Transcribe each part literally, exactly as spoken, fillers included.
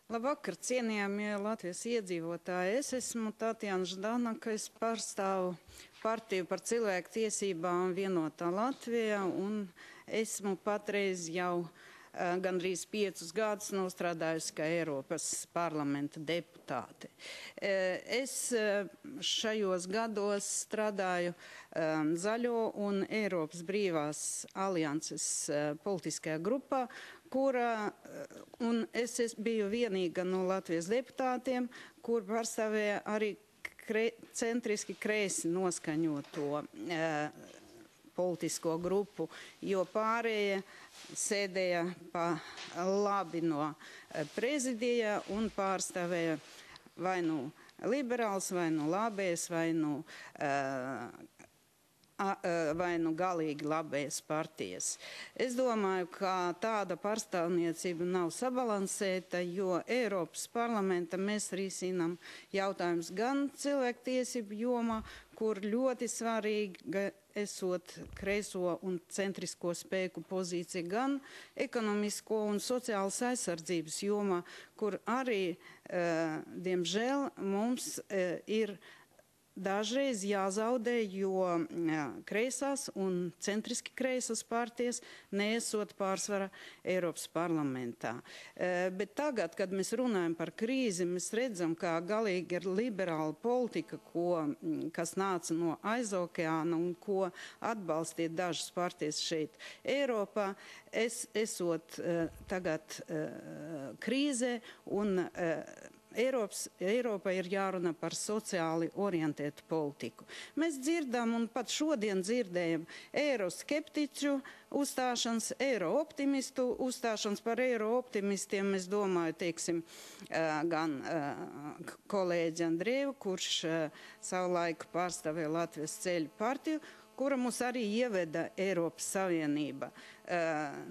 Labvakar, cienījamie Latvijas iedzīvotāji. Es esmu Tatjana Ždanaka, es pārstāvu partiju par cilvēku tiesībām Vienotā Latvija, un esmu patreiz jau uh, gandrīz piecus gadus nostrādājusi kā Eiropas parlamenta deputāte. Uh, es uh, šajos gados strādāju um, Zaļo un Eiropas brīvās alianses uh, politiskajā grupā, kura, un es, es biju vienīga no Latvijas deputātiem, kur pārstāvēja arī kre, centriski kreisi noskaņoto e, politisko grupu, jo pārējie sēdēja pa labi no prezidija un pārstāvēja vai nu liberāls, vai nu labējs, vai nu e, vai nu galīgi labējas partijas. Es domāju, ka tāda pārstāvniecība nav sabalansēta, jo Eiropas parlamenta mēs risinām jautājums gan cilvēktiesību jomā, kur ļoti svarīga esot kreiso un centrisko spēku pozīcija, gan ekonomisko un sociālas aizsardzības jomā, kur arī, uh, diemžēl, mums uh, ir dažreiz jāzaudē, jo jā, kreisās un centriski kreisas partijas neesot pārsvara Eiropas parlamentā. E, bet tagad, kad mēs runājam par krīzi, mēs redzam, kā galīgi ir liberāla politika, ko, kas nāca no aizokeāna un ko atbalstīja dažas partijas šeit Eiropā, es, esot e, tagad e, krīzē un e, Eiropas, Eiropa ir jārunā par sociāli orientētu politiku. Mēs dzirdam un pat šodien dzirdējam eiroskeptiķu uzstāšanas, eirooptimistu uzstāšanas. Par eirooptimistiem es domāju, teiksim, gan kolēģi Andrievu, kurš savulaik pārstāvēja Latvijas ceļu partiju, kura mūs arī ieveda Eiropas Savienība.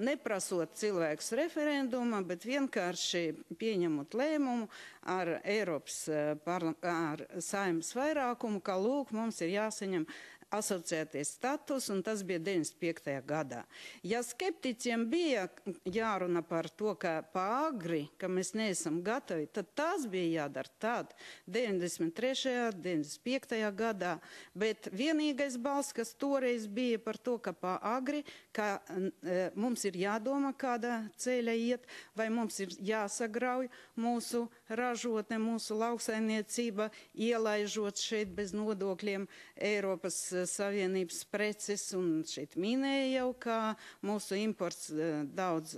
Neprasot cilvēkus referendumā, bet vienkārši pieņemot lēmumu ar Eiropas ar Saeimas vairākumu, ka lūk, mums ir jāsaņem asociēties status, un tas bija deviņdesmit piektajā gadā. Ja skeptiķiem bija jārunā par to, ka pāragri, ka mēs neesam gatavi, tad tas bija jādara tad, deviņdesmit trešajā, deviņdesmit piektajā gadā, bet vienīgais balss, kas toreiz bija par to, ka pāragri, ka e, mums ir jādomā, kādā ceļa iet, vai mums ir jāsagrauj mūsu ražotne, mūsu lauksaimniecība, ielaižot šeit bez nodokļiem Eiropas Savienības preces, un šeit minēja jau, ka mūsu imports daudz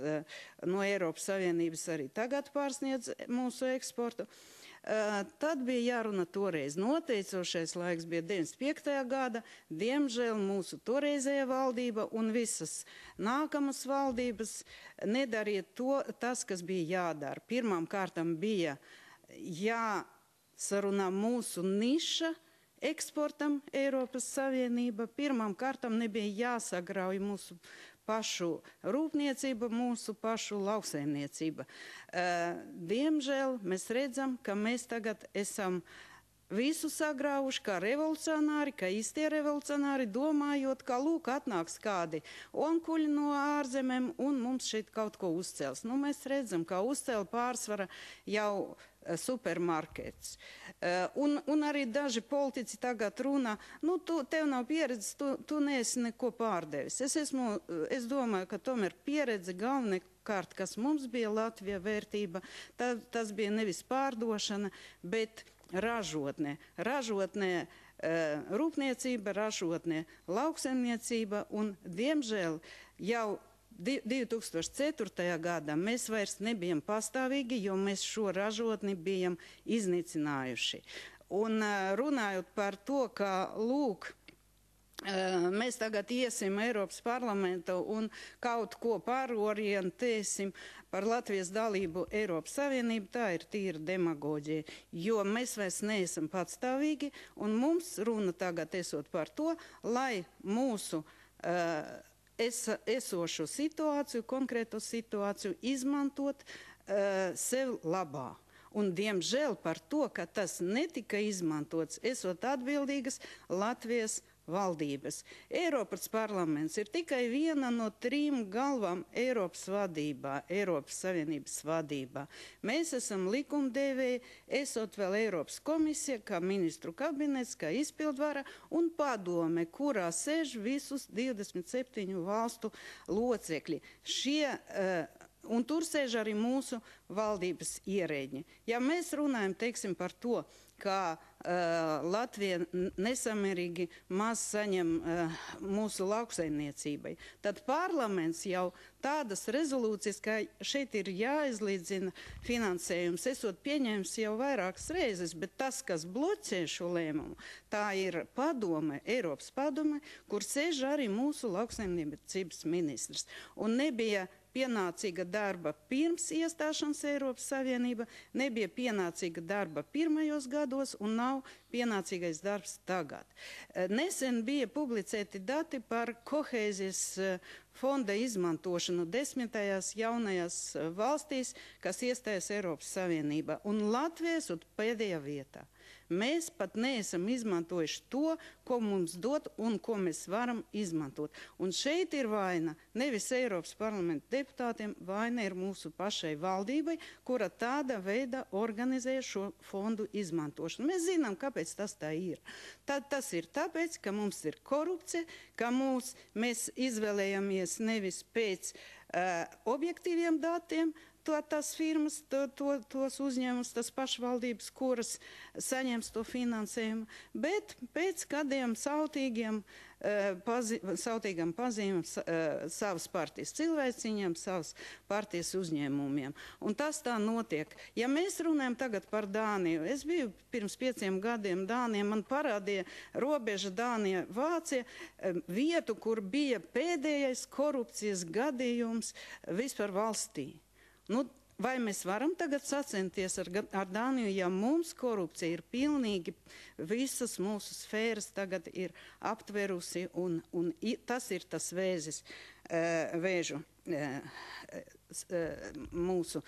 no Eiropas Savienības arī tagad pārsniedz mūsu eksportu. Tad bija jārunā toreiz. Noteicošais laiks bija deviņdesmit piektajā gada. Diemžēl mūsu toreizējā valdība un visas nākamas valdības nedarīja to, tas, kas bija jādara. Pirmām kārtām bija jāsarunā mūsu niša eksportam Eiropas Savienība. Pirmām kārtām nebija jāsagrauj mūsu pašu rūpniecība, mūsu pašu lauksaimniecība. Diemžēl mēs redzam, ka mēs tagad esam visu sagraujuši kā revolucionāri, kā īstie revolucionāri, domājot, ka lūk atnāks kādi onkuļi no ārzemēm un mums šeit kaut ko uzcels. Nu, mēs redzam, ka uzcēla pārsvara jau supermarkets. Uh, un, un arī daži politiķi tagad runā, nu, tu, tev nav pieredzes, tu, tu neesi neko pārdevis. Es, esmu, es domāju, ka tomēr pieredze galvenokārt, kas mums bija Latvijā vērtība, tā, tas bija nevis pārdošana, bet ražotne. Ražotne uh, rūpniecība, ražotne lauksaimniecība, un diemžēl jau divi tūkstoši ceturtajā gadā mēs vairs nebijam pastāvīgi, jo mēs šo ražotni bijam iznīcinājuši. Un runājot par to, ka lūk, mēs tagad iesim Eiropas parlamentu un kaut ko pārorientēsim par Latvijas dalību Eiropas Savienību, tā ir tīra demagoģija, jo mēs vairs neesam patstāvīgi, un mums runa tagad esot par to, lai mūsu uh, es, esošo situāciju, konkrēto situāciju izmantot uh, sev labā. Un, diemžēl, par to, ka tas netika izmantots, esot atbildīgas Latvijas valdības. Eiropas parlaments ir tikai viena no trim galvām Eiropas vadībā, Eiropas Savienības vadībā. Mēs esam likumdevēji, esot vēl Eiropas komisija, kā ministru kabinets, kā izpildvara un padome, kurā sēž visus divdesmit septiņu valstu locekļi. Šie uh, Un tur sēž arī mūsu valdības ierēģi. Ja mēs runājam, teiksim, par to, ka uh, Latvija nesamērīgi maz saņem uh, mūsu lauksaimniecībai, tad parlaments jau tādas rezolūcijas, ka šeit ir jāizlīdzina finansējums, esot pieņēmis jau vairākas reizes, bet tas, kas bloķē šo lēmumu, tā ir padome, Eiropas padome, kur sēž arī mūsu lauksaimniecības ministrs. Un nebija pienācīga darba pirms iestāšanas Eiropas Savienība, nebija pienācīga darba pirmajos gados un nav pienācīgais darbs tagad. Nesen bija publicēti dati par kohēzijas fonda izmantošanu desmitajās jaunajās valstīs, kas iestājas Eiropas Savienībā, un Latvija ir pēdējā vietā. Mēs pat neesam izmantojuši to, ko mums dod un ko mēs varam izmantot. Un šeit ir vaina nevis Eiropas parlamenta deputātiem, vaina ir mūsu pašai valdībai, kura tāda veida organizē šo fondu izmantošanu. Mēs zinām, kāpēc tas tā ir. Tad tas ir tāpēc, ka mums ir korupcija, ka mūs, mēs izvēlējamies nevis pēc uh, objektīviem datiem, To, tas firmas, to, to, tos uzņēmums, tas pašvaldības, kuras saņems to finansējumu, bet pēc kādiem sautīgiem, uh, pazi, sautīgam pazīmēm uh, savas partijas cilvēciņiem, savas partijas uzņēmumiem. Un tas tā notiek. Ja mēs runājam tagad par Dāniju, es biju pirms pieciem gadiem Dānijā, man parādīja robeža Dānija Vācija uh, vietu, kur bija pēdējais korupcijas gadījums vispār valstī. Nu, vai mēs varam tagad sacensties ar, ar Dāniju, ja mums korupcija ir pilnīgi visas mūsu sfēras tagad ir aptverusi un, un tas ir tas vēzis, uh, vēžu uh, mūsu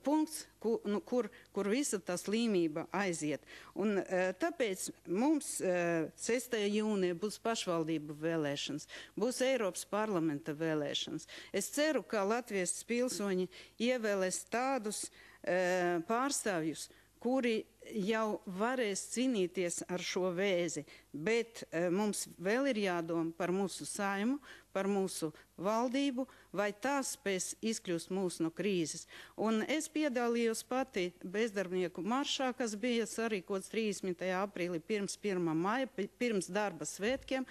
punkts, kur, nu, kur, kur visa tā slimība aiziet. Un uh, tāpēc mums uh, sestajā jūnijā būs pašvaldību vēlēšanas, būs Eiropas parlamenta vēlēšanas. Es ceru, ka Latvijas pilsoņi ievēlēs tādus uh, pārstāvjus, kuri jau varēs cīnīties ar šo vēzi, bet uh, mums vēl ir jādomā par mūsu saimu, par mūsu valdību, vai tās spēs izkļūst mūs no krīzes. Un es piedalījos pati bezdarbnieku maršā, kas bija sarīkots trīsdesmitajā aprīlī pirms pirmā maija, pirms darba svētkiem.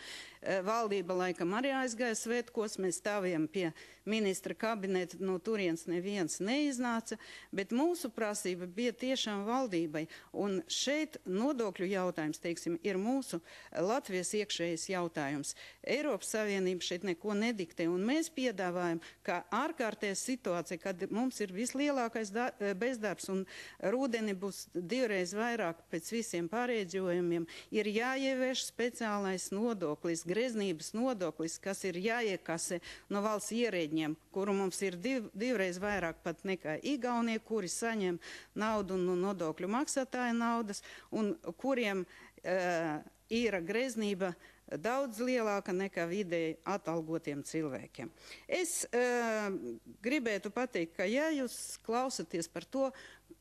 Valdība laikam arī aizgāja svētkos, mēs stāvējam pie ministra kabineta, no turienes neviens neiznāca, bet mūsu prasība bija tiešām valdībai. Un šeit nodokļu jautājums, teiksim, ir mūsu Latvijas iekšējais jautājums. Eiropas Savienība šeit neko nediktē, un mēs piedāvājam, ka ārkārtējā situācija, kad mums ir vislielākais bezdarbs un rudeni būs divreiz vairāk pēc visiem pārēģojumiem, ir jāievieš speciālais nodoklis, greznības nodoklis, kas ir jāiekasē no valsts ierēģiem, kuru mums ir div, divreiz vairāk pat nekā Igaunie, kuri saņem naudu no nodokļu maksātāja naudas un kuriem uh, ir greznība daudz lielāka nekā vidēji atalgotiem cilvēkiem. Es uh, gribētu pateikt, ka ja jūs klausaties par to,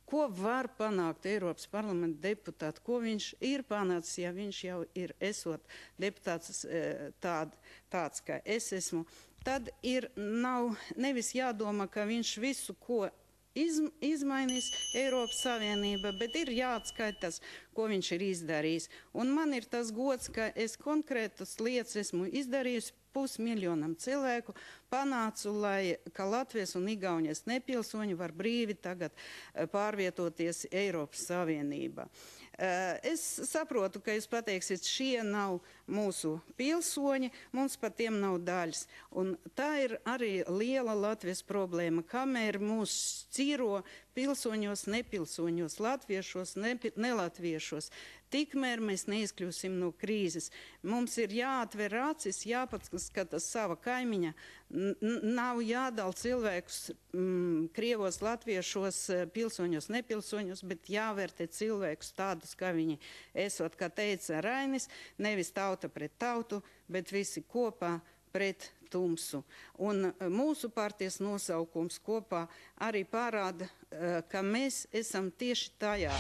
ko var panākt Eiropas parlamenta deputāti, ko viņš ir panācis, ja viņš jau ir esot deputāts uh, tād, tāds, kā es esmu, tad ir nav nevis jādomā, ka viņš visu, ko Iz, izmainīs Eiropas Savienība, bet ir jāatskaitās, ko viņš ir izdarījis. Un man ir tas gods, ka es konkrētas lietas esmu izdarījusi pusmiljonam cilvēku, panācu, lai, ka Latvijas un Igaunijas nepilsoņi var brīvi tagad pārvietoties Eiropas Savienībā. Es saprotu, ka jūs pateiksiet, šie nav mūsu pilsoņi, mums par tiem nav daļas. Un tā ir arī liela Latvijas problēma, kamēr mūs cīro pilsoņos, nepilsoņos, latviešos, ne, nelatviešos. tikmēr mēs neizkļūsim no krīzes. Mums ir jāatver acis, jāpaskata sava kaimiņa. Nav jādala cilvēkus mm, krievos, latviešos, pilsoņos, nepilsoņos, bet jāvērtē cilvēkus tādus, kā viņi esot, kā teica Rainis, nevis tauta pret tautu, bet visi kopā pret tumsu. Un mūsu partijas nosaukums kopā arī parāda, ka mēs esam tieši tajā.